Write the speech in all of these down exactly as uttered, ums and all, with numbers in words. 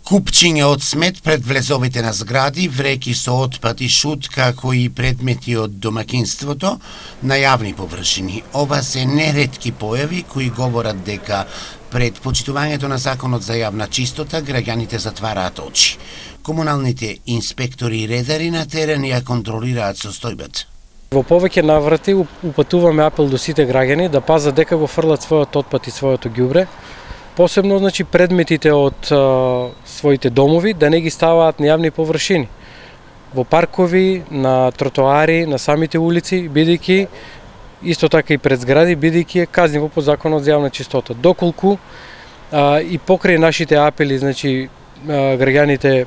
Купчиња од смет пред влезовите на згради, вреки со отпад и шут, како и предмети од домакинството на јавни површини. Ова се неретки појави кои говорат дека пред почитувањето на законот за јавна чистота граѓаните затвараат очи. Комуналните инспектори и редари на терен ја контролираат состојбата. Во повеќе наврати упатуваме апел до сите граѓани да пазат дека го фрлат својот отпад и своето ѓубре. Посебно, значи, предметите од а, своите домови да не ги ставаат на јавни површини, во паркови, на тротоари, на самите улици, бидејќи исто така и пред згради, бидејќи е казниво по законот за јавна чистота. Доколку а, и покрај нашите апели, значи, а, граѓаните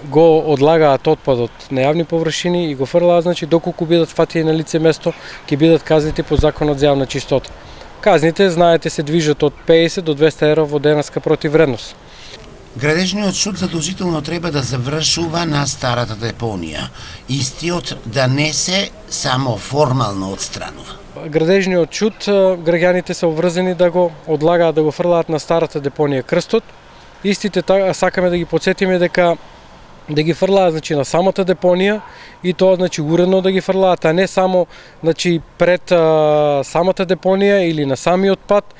го одлагаат отпадот на јавни површини и го фрлаат, значи, доколку бидат фатени на лице место, ќе бидат казнети по законот за јавна чистота. Казните, знаете, се движат од песет до двесте евра во денеска противвредност. Градежниот шут задолжително треба да завршува на старата депонија. Истиот да не се само формално отстранува. Градежниот шут, граѓаните се обврзани да го одлагаат, да го фрлаат на старата депонија Крстот. Истите сакаме да ги потсетиме дека да ги фрлаат, значи, на самата депонија и тоа, значи, уредно да ги фрлаат, а не само, значи, пред а, самата депонија или на самиот пат,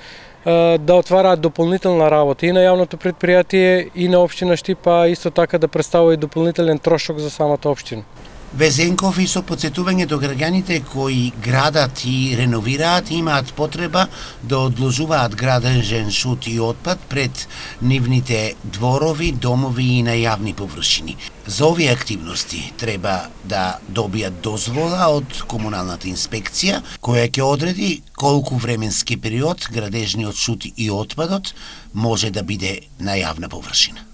а, да отвараат дополнителна работа и на јавното предпријатие и на општина Штип, а исто така да представува и дополнителен трошок за самата општина. Везенков и со потсетување до граѓаните кои градат и реновираат имаат потреба да одложуваат градежен шут и отпад пред нивните дворови, домови и на јавни површини. За овие активности треба да добијат дозвола од комуналната инспекција, која ќе одреди колку временски период градежниот шут и отпадот може да биде на јавна површина.